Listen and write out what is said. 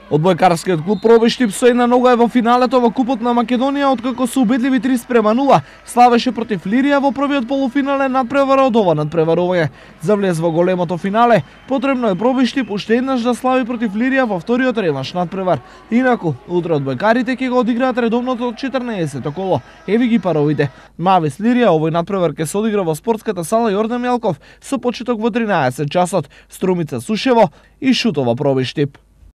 Одбојкарскиот клуб Пробиштип со една нога е во финалето во Купот на Македонија, откако со убедливи 3:0 славеше против Лирија во првиот полуфинален надпревар од ова надпреварување. За влез во големото финале, потребно е Пробиштип уште еднаш да слави против Лирија во вториот реванш надпревар. Инаку, утре одбојкарите ќе го одиграат редовното 14-то коло. Еви ги паровите. Мавис Лирија овој надпревар ќе се одигра во спортската сала Јордан Мелков со почеток во 13 часот. Струмица Сушево и Шутова Пробиштип.